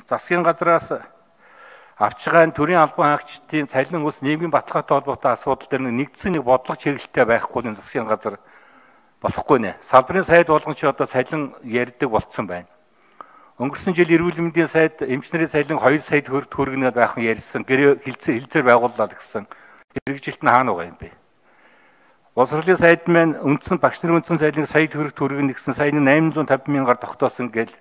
засгийн газраас авч байгаа төрийн албан хаагчдын цалин ус нийгмийн баталгаатай холбоотой асуудал дээр нэгдсэн нэг бодлого чиглэлтэй байхгүй нь засгийн газар болохгүй нэ. Салбарын сайд болгон ч одоо цалин ярьдаг болцсон байна. Өнгөрсөн жил эрүүл мэндийн сайд эмчнэрийн цалин 2 сая төгрөгнөд байхан ярьсан. Гэрээ хилцээр байгууллаа гэсэн. Хэрэгжилт нь хаана байгаа юм бэ? Боловсролын сайд маань багш нарын үндсэн цалинг сая төгрөг нэгсэн саяны 850 мянгаар тогтоосон гэл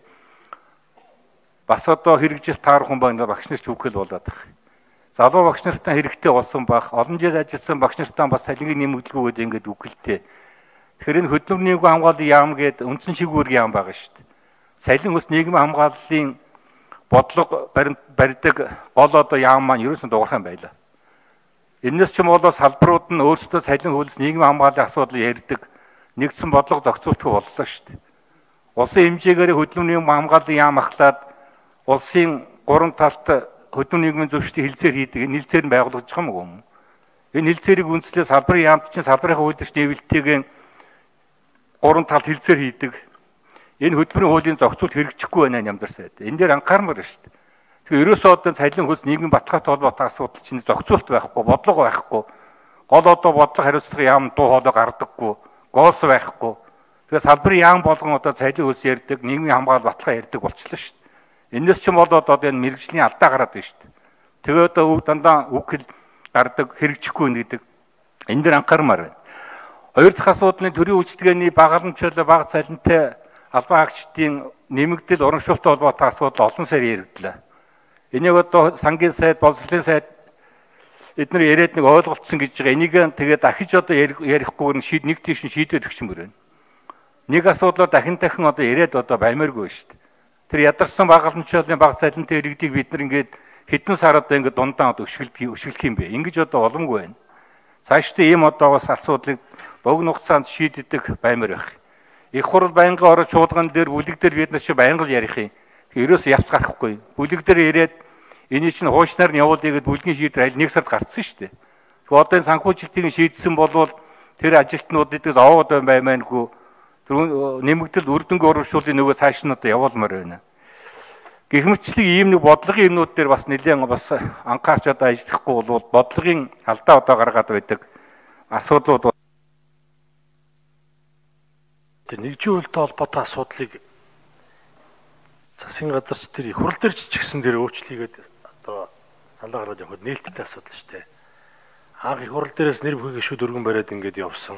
бас одоо хэрэгжилт таарах хүн байна багш нар ч үгэл болоод байна. Залуу багш нартаа хэрэгтэй болсон баг олон жил ажилласан багш нартаа бас цалингийн нэмэгдэлгүйгээд ингээд үгэлтэй. Тэгэхээр энэ хөдөлмөрийн нийгмийн хамгааллын яам гэдэг үндсэн шигүүр яам байгаа шүү дээ. Цалин ус нийгмийн хамгааллын бодлого барьдаг гол одоо яам маань ерөөсөн дуурах юм байлаа. Энэс ч юм бол салбарууд нь өөрсдөө цалин хөлс нийгмийн хамгааллын асуудал ярьдаг нэгдсэн бодлого зохицуултгүй боллоо шүү дээ. Улсын хэмжээгээр хөдөлмөрийн хамгааллын яам ахлаад улсын 3 талт хөдөлмөрийн нийгмийн зөвшөлтийг хилцээр хийдэг энэ хилцээр нь байгуулагдаж байгаа юм уу? Энэ хилцээрийг үндэслээд салбарын яамд чинь салбарын үйлдвэрч нэвлэлтийг 3 талт хилцээр хийдэг. Энэ хөдөлмөрийн хуулийн зохицуулт хэрэгжихгүй байна нямдар сайд. Энэ дээр анхаармаар шүү дээ. Тэгэхээр ерөөсөө одоо цалин хөлс нийгмийн баталгаатай холбоотой асуудал чинь зохицуулт байхгүй, бодлого байхгүй. Гол одоо бодлого хариуцлага яам дуу хоолой гардаггүй, гоос байхгүй. Тэгэхээр салбарын яам болгон одоо цалин хөлс ярьдаг, нийгмийн хамгаалал баталгаа ярьдаг болчихлоо шүү дээ. Энэс ч болоод одоо энэ мэрэгжлийн алдаа гараад байна шүү дээ. Тэгээ одоо дандаа үг хэл гардаг хэрэгжихгүй гэдэг. Энэ дээр анхаармаар байна. Хоёр дахь асуудал нь төрийн үйлчлэгээний багаламжлал бага цалинтай албан хаагчдын нэмэгдэл урамшуулттай холбоотой асуудал олон сар яригдлаа. Энийг одоо сангийн сайд, боловсролын сайд эдгээр яриад нэг ойлголцсон гэж байгаа. Энийг тэгээд дахиж одоо ярихгүй нэг тийш шийдвэр өгчмөр байна. Нэг асуудлаар дахин одоо яриад одоо баймааргүй шүү дээ. Тэр ядарсан багаламжлалын бага цалинтай иргэдийг бид нар ингээд хэдэн сар одоо ингээд дундаа одоо өшгөлөх юм бэ? Ингэж одоо боломгүй байна. Цаашдаа ийм одоо бас асуудлыг богино хугацаанд шийддэг баймаар байх. Их хурл байнгын орон чуулган дээр бүлэг дээр бид нар чи байнга л ярих юм. Ерөөс явц гарахгүй. Бүлэг дээр ирээд энийг чинь хуучнаар нь явуулъя гэд бүлгийн шийдвэр аль нэг сард гарцсан шүү дээ. Тэгэхээр одоо энэ санхүүжилтийг шийдсэн болвол тэр ажилтнуудыг овоод баймаангүй нэмэгдэл үрдэнгийн урамшууллын нөгөө цааш нь одоо явуулмаар байна. Гэхмэчлэг ийм нэг бодлогын юмнууд дээр бас нэлээд бас анхаарч одоо ажиллахгүй бол бодлогын алдаа одоо гаргаад байдаг асуудлууд. Тэр нэгжийн үйлдэл холбоотой асуудлыг засгийн газарч тэр их хурл дээр ч гэсэн тэр өөрчлөлийгээд одоо санаа гаргаад явахад нээлттэй асуудал шүү дээ. Анх их хурл дээрээс нэр бүхий гишүүд өргөн бариад ингээд явсан.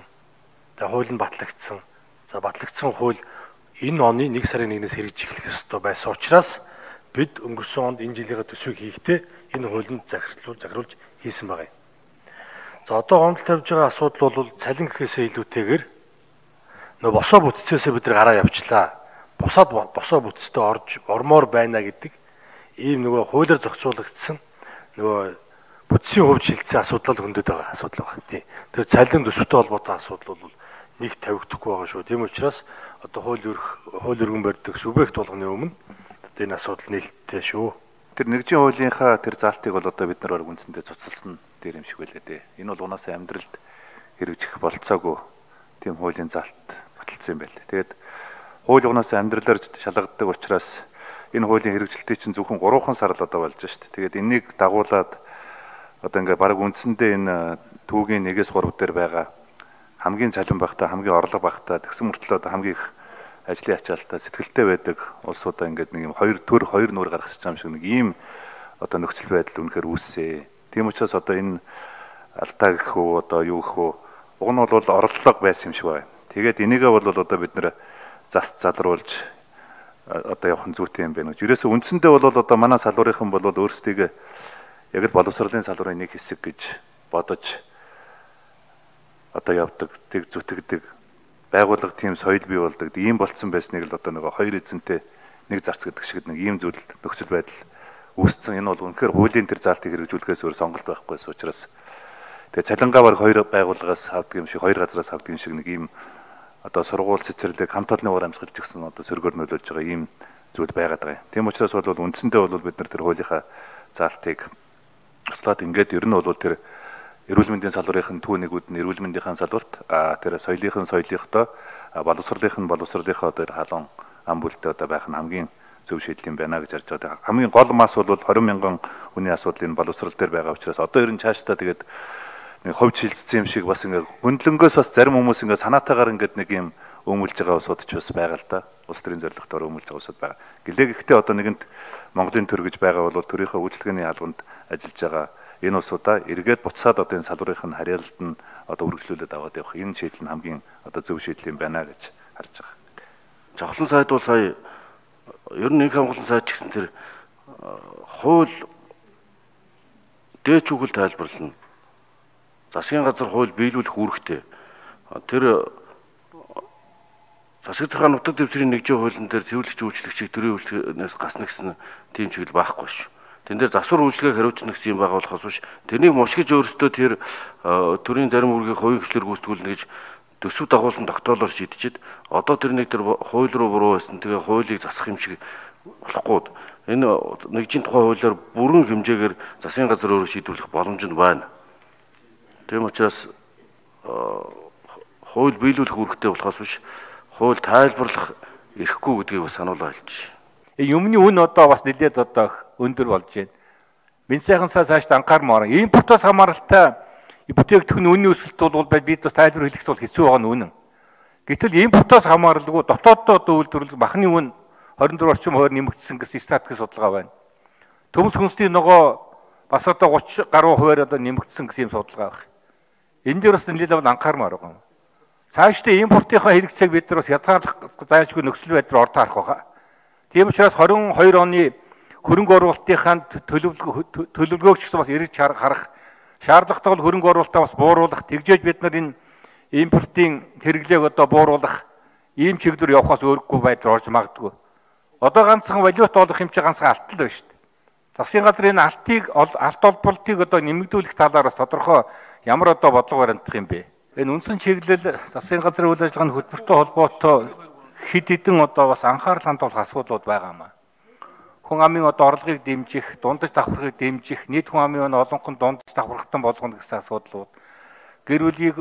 Тэгээ хууль нь батлагдсан. За батлагдсан хууль энэ оны 1 сарын 1-ээс хэрэгжих ёстой байсан учраас бид өнгөрсөн онд энэ жилийн төсвийг хийхдээ энэ хуулинд захируулж хийсэн байгаа юм. За одоо гомдол тавьж байгаа асуудал бол цалин гэхээсээ илүүтэйгээр нөө босоо бүтцээсээ бид нар гараа явчлаа. Босоо бүтцтэй орж ормоор байна гэдэг ийм нөгөө хуулиар зохицуулагдсан нөгөө бүтцийн хувьд шилжсэн асуудал хөндөд байгаа асуудал байна. Тийм. Тэр цалин төсвөтэй холбоотой асуудал бол нэг тавигдахгүй байгаа шүү. Тийм учраас одоо хууль өргөн барьдаг субъект болгоны өмнө энэ асуудал нээлттэй шүү. Тэр нэгжийн хуулийнхаа тэр залтыг бол одоо бид нар үндсэндээ цуцалсан дээр юм шиг байлаа дээ. Энэ бол унаасаа амьдралд хэрэгжих болцоогүй тийм хуулийн залт баталсан юм байна. Тэгээд хууль унаасаа амьдралаар шалгагддаг учраас энэ хуулийн хэрэгжилтийг чинь зөвхөн 3 сар л одоо болж шүү дээ. Тэгээд энийг дагуулад одоо ингээ баг үндсэндээ энэ түүгийн 1-3 дээр байгаа хамгийн цалин багтаа хамгийн орлого багтаа тэгсэн мөртлөө одоо хамгийн их ажлын ачаалтаа сэтгэлтэй байдаг улсуудаа ингээд нэг юм хоёр нүүр гаргаж байгаа юм шиг нэг ийм одоо нөхцөл байдал үнэхээр үүссэн. Тийм учраас одоо энэ алдаа гэх үү одоо юу гэх үү уг нь бол орлого байсан юм шиг байна. Тэгээд энийгээ бол одоо бид нэр залруулж одоо явах нь зүйтэй юм байна гэж. Ерөөсөө үндсэндээ бол одоо манай салбарынхан бол өөрсдөө яг л боловсролын салбарын нэг хэсэг гэж бодож одоо явдаг, тэг зүтгэдэг байгууллага тийм соёл бий болдог. Ийм болцсон байсныг л одоо нөгөө хоёр эзэнтэй нэг зарц гэдэг шиг нэг ийм зүйл нөхцөл байдал үүссэн. Энэ бол үнэхээр хуулийн тэр заалтыг хэрэгжүүлэхээс өөр сонголт байхгүйс учраас тэгээ цалингаа баг хоёр байгууллагаас авдаг юм шиг хоёр газраас авдаг юм шиг нэг ийм одоо сургууль цэцэрлэг хамт олонны уур амьсгалж гисэн одоо сөргөөр нөлөөлж байгаа ийм зүйл байгаад байгаа юм. Тийм учраас бол үндсэндээ бол бид нар тэр хуулийнхаа заалтыг туслаад ингээд ер нь бол тэр эрүүл мэндийн салбарын түүнийгүүд нь эрүүл мэндийн салбарт тэр соёлынхоо боловсролынхоо тэр халуун ам бүлтэй одоо байх нь хамгийн зөв шийдэл юм байна гэж харж байгаа. Хамгийн гол мас бол 20 мянган хүний асуудал энэ боловсрол дээр байгаа учраас одоо ер нь цаашдаа тэгээд нэг ховж хилцсэн юм шиг бас ингээд хөндлөнгөөс бас зарим хүмүүс ингээд санаатаагаар ингээд нэг юм өмүүлж байгаа усууд ч бас байгаа л да. Улс төрийн зорилготоор өмүүлж байгаа усуд байгаа. Гэлээ гэхдээ одоо нэгэнт Монголын төр гэж байгаа бол төрийнхөө үйлчлэгээний албанд ажиллаж байгаа энэ усудаа эргээд буцаад одоо энэ салбарынх нь харьяалалд нь одоо үргэлжлүүлээд аваад явах энэ шийдэл нь хамгийн одоо зөв шийдэл юм байна гэж харж байгаа. Жавхлан сайд бол сая ер нь нэг хамгаалсан сайд ч гэсэн тэр хууль дээч үгэл тайлбарлана. Засгийн газар хууль биелүүлэх үүрэгтэй. Тэр засаг захааны нутаг дэвсгэрийн нэгжийн хуулийн дээр цэвэрлэгч үйлчлэгчийг төрийн үйлчлэгээс гасна гэсэн тийм чиглэл байхгүй ш. Тэн дээр засвар үйлчлэгийг хариуцна гэсэн юм байгаа болохоос биш. Тэрнийг мушгиж өөрсдөө тэр төрийн зарим үүргийг хувийн хвшлэр гүйцэтгүүлнэ гэж төсөв дагуулсан тогтоолоор шийдчихэд одоо тэр нэг тэр хууль руу буруу байсан. Тэгээ хуулийг засах юм шиг болохгүй. Энэ нэгжийн тухай хуулиар бүрэн хэмжээгээр засгийн газар өөрөө шийдвэрлэх боломж нь байна. Тийм учраас хууль биелүүлэх үүрэгтэй болохоос биш хууль тайлбарлах эрхгүй гэдгийг бас сануулж хэлж. Юмны үн одоо бас нэлээд одоо өндөр болж байна. Бенз сайхансаа цаашд анхаармаар. Импортоос хамааралтай бүтээгдэхүүн үнийн өсөлт бол бид бас тайлбар хэлэхэд бол хэцүү байгаа нь үнэн. Гэтэл импортоос хамааралгүй дотооддоо үйлдвэрлэх махны үн 24 орчим хувиар нэмэгдсэн гэсэн статистик судалгаа байна. Төмс хүнсний ногоо бас одоо 30 гаруй хувиар одоо нэмэгдсэн гэсэн юм судалгаа байна. Энэ дээр бас нэлээд анхаармаар байгаа юм. Цаашдаа импортынхаа хэрэгцээг бид нар бас хязгаарлах зайлшгүй нөхцөл байдал орд харах байгаа. Тийм учраас 22 оны хөрөнгө оруулалтынхаа төлөвлөгөөг ч гэсэн бас эргэж харах шаардлагатай бол хөрөнгө оруулалтаа бас бууруулах, тэгжээж бид нар энэ импортын хэрэглээг одоо бууруулах ийм чиглэлээр явахаас өөрөхгүй байдал орж магадгүй. Одоо ганцхан валют олох юм чи ганцхан алт л байна шүү дээ. Засгийн газар энэ алт олболтыг одоо нэмэгдүүлэх талаар бас тодорхой ямар одоо бодлого баримтах юм бэ? Энэ үндсэн чиглэл засгийн газрын үйл ажиллагааны хөтөлбөртэй холбоотой хэд хэдэн одоо бас анхаарал хандуулах асуудлууд байгаа юм аа. Хүн амын одоо орлогыг дэмжих, дундаж давхархыг дэмжих, нийт хүн амын олонхын дундаж давхархтан болгоно гэсэн асуудлууд. Гэр бүлийг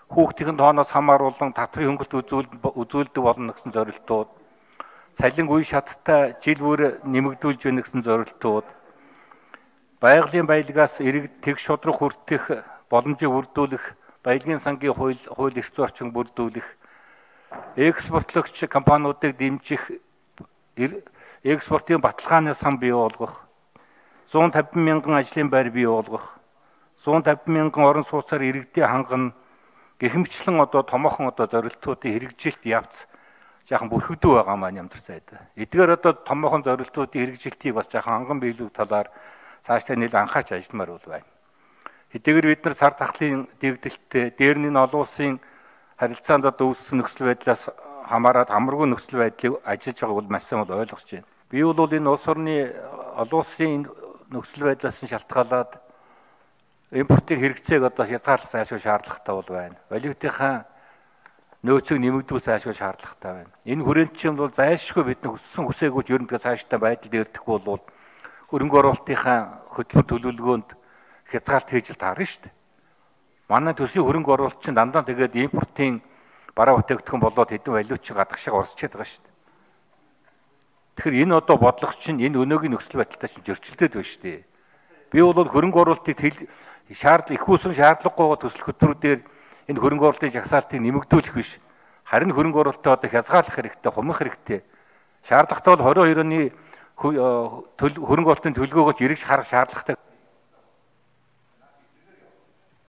хүүхдийн тооноос хамааруулан татврын хөнгөлт үзүүлдэг болно гэсэн зорилтууд. Цалин үе шаттай жил бүр нэмэгдүүлж байна гэсэн зорилтууд. Байгалийн баялагаас иргэд тэг шудраг хүртэх боломжийг бүрдүүлэх, баялагын сангийн хууль эрх зүйн орчин бүрдүүлэх, экспортлогч компаниудыг дэмжих, экспортын баталгааны сан бий болгох, 150 мянган ажлын байр бий болгох, 150 мянган орон сууцаар иргэдийн хангана гэхмэчлэн одоо томоохон одоо зорилтуудын хэрэгжилт явц жаахан бүрхэгдүү байгаа маань ямар сайд. Эдгээр одоо томоохон зорилтуудын хэрэгжилтийг бас жаахан ханган биелүүлэх талаар цаашдаа нэлээд анхаарч ажилламаар бол байна. Хэдийгээр бид нар сар тахлын дэгдэлттэй дээр нь олон улсын харилцаанд одоо үүссэн нөхцөл байдлаас хамаарат амаргүй нөхцөл байдлыг ажиллаж байгааг бол маш сайн бол ойлгож байна. Би бол энэ улс орны олон улсын нөхцөл байдлаас нь шалтгаалаад импортын хэрэгцээг одоо хязгаарлах зайлшгүй шаардлагатай бол байна. Валютынхаа нөөцийг нэмэгдүүлэх зайлшгүй шаардлагатай байна. Энэ хүрээнд чинь бол зайлшгүй бид нар хүссэн хүсээгүй ч ерөнхийдөө цаашдаа байдалд эрдэхгүй бол хөрөнгө оруулалтынхаа хөтөлбөр төлөвлөгөөнд хязгаалт хийж таарна шүү дээ. Манай төсвийн хөрөнгө оруулалт чинь дандаа тэгээд импортын бараа бүтээгдэхүүн болоод хэдэн валют чи гадагшаа орсчихэд байгаа шүү дээ. Тэгэхээр энэ одоо бодлого чинь энэ өнөөгийн нөхцөл байдалтай чинь зөрчилдөд байна шүү дээ. Би бол хөрөнгө оруулалтыг их усрын шаардлагагүйгээр төсөл хөтөлбөрүүдээр энэ хөрөнгө оруулалтын жагсаалтыг нэмэгдүүлэх биш. Харин хөрөнгө оруулалтаа одоо хязгаарлах хэрэгтэй, хумах хэрэгтэй. Шаардлагатай бол 22 оны хөрөнгө оруулалтын төлөвлөгөөгөө эргэж харах шаардлагатай.